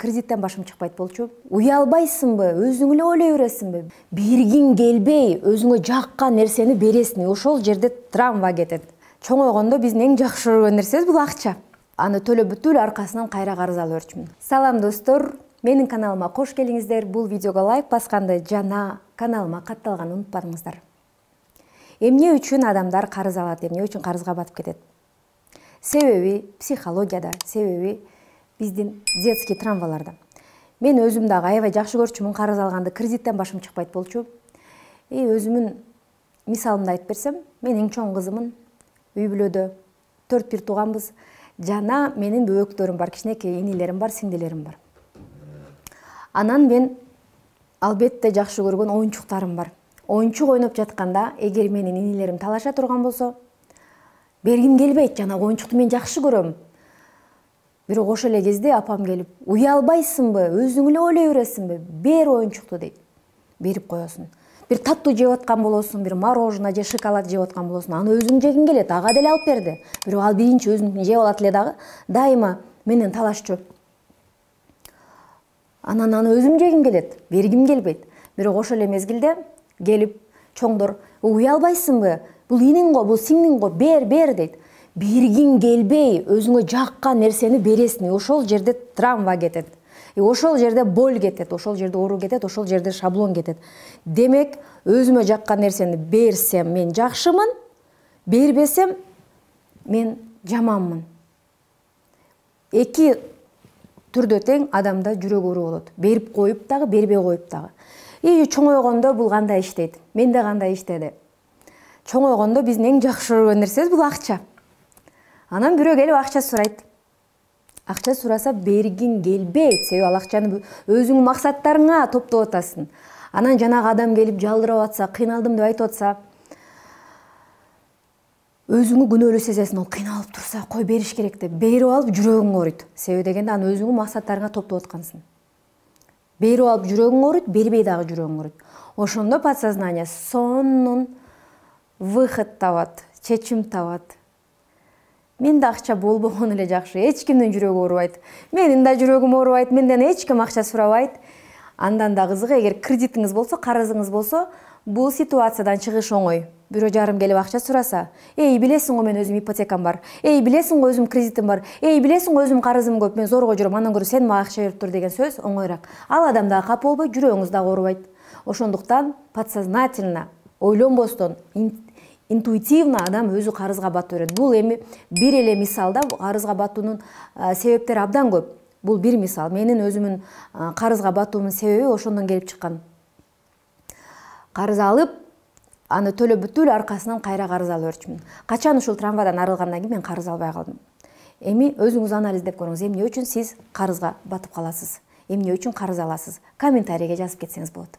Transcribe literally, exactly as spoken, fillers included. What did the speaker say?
Кредиттен башым чыкпайт болчу. Уялбайсыңбы, өзүң эле ойлой бересиңби? Бергиң келбей, өзүңө жаккан нерсени бересиң, ошол жерде травма кетет. Чоңойгондо биздин эң жакшы көргөн нерсебиз бул акча. Аны төлөп бүтүл аркасынан кайра карыз алып өрчүмүн. Салам достор, менин каналыма кош келиңиздер. Бул видеого лайк басканды жана каналыма катталганды унутпадыңыздар. Эмне үчүн адамдар карыз алат, эмне үчүн карызга батып кетет? Себеби психологияда, себеби биздин детский травмаларда. Мен өзүм дагы аябай жакшы көрчүмүн карыз алганды, кредиттен башым чыкпайт болчу. И өзүмүн мисалымды айтып берсем, мен эң чоң кызымын. Үй бүлөдө төрт бир тууганбыз. Жана менин бөөктөрүм бар, кичинекей инилерим бар, сиңдилерим бар. Анан мен албетте жакшы көргөн оюнчуктарым бар. Оюнчук ойноп жатканда, эгер менин инилерим талаша турган болсо, бергим келбейт, жана оюнчукту мен жакшы көрөм. Бирок ошол эле кезде апам келип, уялбайсыңбы, өзүң эле ойлой бересиңби? Бер оюнчукту дейт. Берип коесуң. Бир таттуу жеп аткан болосуң, бир мороженое же шоколад жеп аткан болосуң, аны өзүң жегиң келет, ага деле алып берди. Бирок ал биринчи өзүнүкүн жеп алат эле дагы, дайыма менен талашчу. Анан аны өзүм жегим келет, бергим келбейт. Бирок ошол эле мезгилде келип чоңдор, уялбайсыңбы? Бул иниң го, бул сиңдиң го, бер, бер дейт. Бергиң келбей, өзүңө жаккан нерсени бересиң, ошол жерде травма кетет. И ошол жерде боль кетет, ошол жерде оору кетет, ошол жерде шаблон кетет. Демек, өзүмө жаккан нерсени берсем, мен жакшымын, бербесем, мен жаманмын. Эки түрдө тең адамда жүрөк оору болот. Берип коюп дагы, бербей коюп дагы. И чоңойгондо бул кандай иштейт? Менде кандай иштеди? Чоңойгондо биздин эң жакшы көргөн нерсебиз бул акча. Анан бирөө келип акча сурайт. Акча сураса бергиң келбейт, себеби ал акчаны өзүңүн максаттарыңа топтоп атасың. Анан жанагы адам келип жалдырап атса, кыйналдым деп айтып атса, өзүңү күнөөлүү сезесиң, ол кыйналып турса, кой бериш керек деп, берип алып жүрөгүң ооруйт. Себеби дегенде аны өзүңүн максаттарыңа топтоп аткансың. Берип алып жүрөгүң ооруйт, бербей дагы жүрөгүң ооруйт. Ошондо подсознание сонун выход табат, чечим табат. Менде акча болбогон эле жакшы, эч кимдин жүрөгү оорубайт. Менин да жүрөгүм оорубайт, менден эч ким акча сурабайт. Андан да кызыгы, эгер кредитиңиз болсо, карызыңыз болсо, бул ситуациядан чыгыш оңой. Бирөө жарым келип акча сураса, эй, билесиң го мен өзүм ипотекам бар. Эй, билесиң го өзүм кредитим бар. Эй, билесиң го өзүм карызым көп, мен зорго жүрөм, андан көрө сен мага акча берип тур деген сөз оңойраак. Ал адам дагы капа болбой, жүрөгүңүз дагы оорубайт. Ошондуктан подсознательно, ойлонбостон, интуитивно адам өзү карызга батып берет. Бул эми бир эле мисалда карызга батуунун себептери абдан көп. Бул бир мисал. Менин өзүмүн карызга батуумдун себеби ошондон келип чыккан. Карыз алып, аны төлөп бүтүл аркасынан кайра карыз алып өрчүмүн. Качан ушул травмадан арылгандан кийин мен карыз албай калдым. Эми өзүңүз анализдеп көрүңүз, эмне үчүн сиз карызга батып каласыз? Эмне үчүн карыз аласыз? Комментарийге жазып кетсеңиз болот.